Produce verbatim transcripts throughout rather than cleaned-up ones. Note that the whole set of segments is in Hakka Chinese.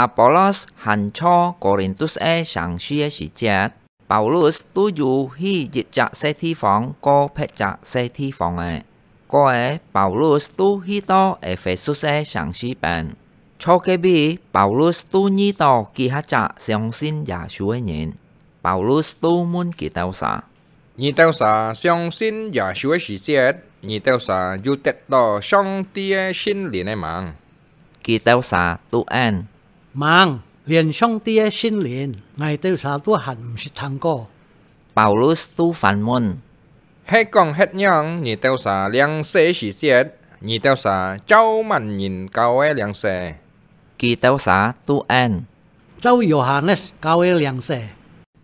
Apollos還在哥林多个城市个時節， Paulus都有去一隻細地方過別隻細地方个。過仔，Paulus都去到Ephesus个城市邊。在該位，Paulus都遇到幾下隻相信耶穌个人。Paulus都問佢兜儕：「你兜儕相信耶穌个時節，你兜儕有得到上帝个聖靈个吂？」佢兜儕都應：「吂，連上帝个聖靈，𠊎兜儕都還毋識聽過。」Paulus都反問：「係講核樣，你兜儕領洗時節，你兜儕照麼人教个領洗？」佢兜儕都應：「照Yohanes教个領洗。」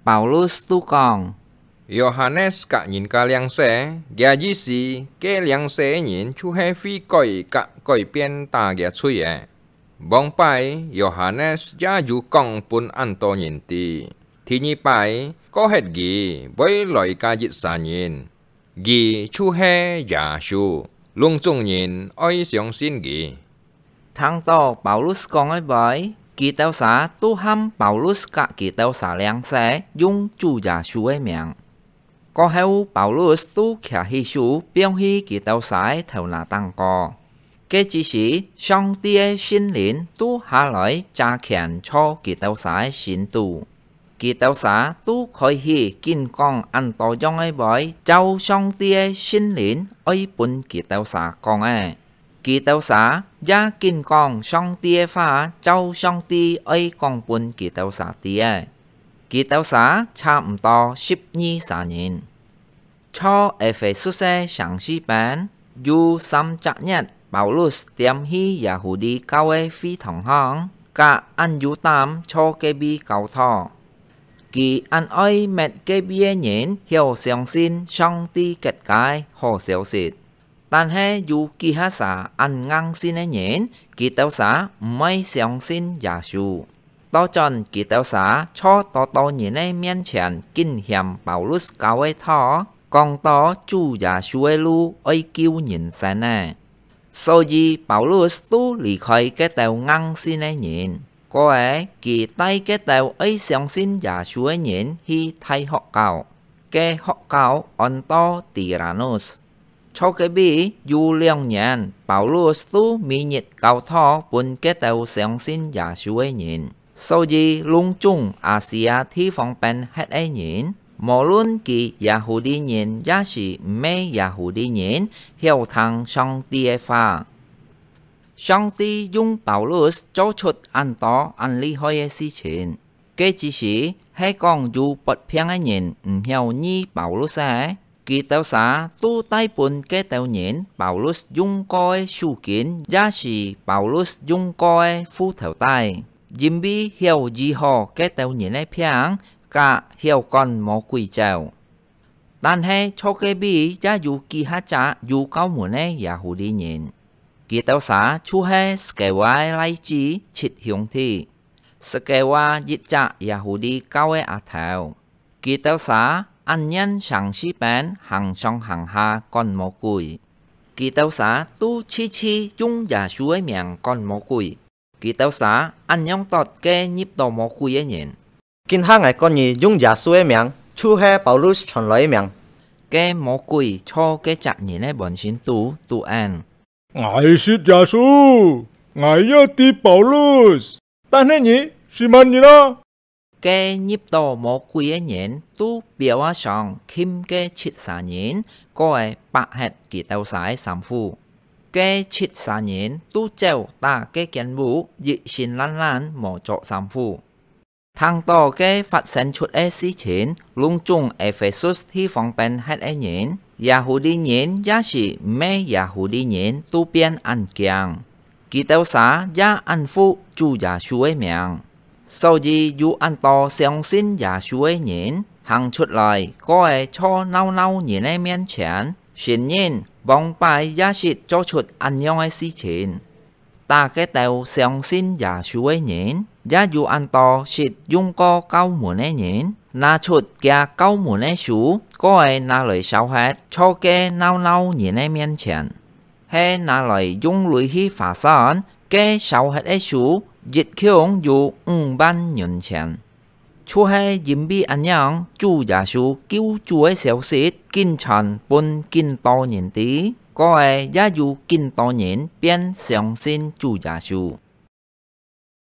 Paulus都講：「Yohanes㧯人家領洗，厥意思，該領洗个人就係悔改㧯改變打厥罪个。」 往擺Yohanes也有講分恁多人知，第二擺，過核佢會來加一儕人，佢就係耶穌，攏總人愛相信佢。聽到Paulus講个話，佢兜儕都喊Paulus㧯佢兜儕領洗，用主耶穌个名。 過後，Paulus都擎起手放去佢兜儕个頭那頂高。該之時，上帝个聖靈都下來遮權在佢兜儕个心肚。佢兜儕都開始緊講恁多樣个話，照上帝个聖靈愛分佢兜儕講个。 佢兜儕也緊講上帝个話，照上帝愛講分佢兜儕知个。佢兜儕差毋多十二儕人。在Ephesus个城市邊，有三隻月，Paulus恬去耶穌教个會堂項，㧯恁有膽在該位教導。佢恁愛搣該位个人曉相信上帝結个好消息。 但係有幾下儕恁硬性个人，佢兜儕毋愛相信耶穌。倒轉佢兜儕在多多人个面前緊嫌Paulus教个道，講到主耶穌个路愛救人生个。所以Paulus都離開該兜硬性个人，過仔佢帶該兜愛相信耶穌个人去大學校，該學校安到Tiranus。 在該位有兩年，Paulus都每日教導分該兜相信耶穌个人。所以，攏總亞細亞地方邊核个人，無論佢Yahudi人也係毋係Yahudi人，曉聽上帝个話。上帝用Paulus做出恁多恁厲害个事情。 該之時，係講有發病个人毋曉醫Paulus个，佢兜儕都帶分該兜人Paulus用過个手巾，也係Paulus用過个褲頭帶，因為曉醫好該兜人个病，㧯曉趕魔鬼走。但係在該位也有幾下隻有教門个Yahudi人，佢兜儕就係Skewa个倈子七兄弟。 Skewa一隻Yahudi教个阿頭，佢兜儕恁樣城市邊行上行下趕魔鬼。佢兜儕都次次用耶穌个名趕魔鬼。佢兜儕恁樣答該入到魔鬼个人：「今下𠊎趕你用耶穌个名，就係Paulus傳來个名。」該魔鬼在該隻人个半身肚都應： 「𠊎識耶穌，𠊎也知Paulus，但係你係麼人啊？」該入到魔鬼个人都飆啊上，㧡該七儕人，過仔剝忒佢兜儕个衫褲。該七儕人都走打該間屋，一身爛爛無著衫褲。 聽到該發生出个事情，攏總Ephesus地方邊核个人，Yahudi人也係毋係Yahudi人，都變恁驚。佢兜儕也恁服主耶穌个名。所以有恁多相信耶穌个人行出來，過仔在鬧鬧人个面前，承認往擺也識做出恁樣个事情。 打該兜相信耶穌个人，也有恁多識用過教門个人，拿出厥教門个書，過仔拿來燒忒，在該鬧鬧人个面前。係拿來用鐳去划算，該燒忒个書一共有五萬銀錢。就係因為恁樣，主耶穌救主个消息緊傳分緊多人知，過後也有緊多人便相信主耶穌。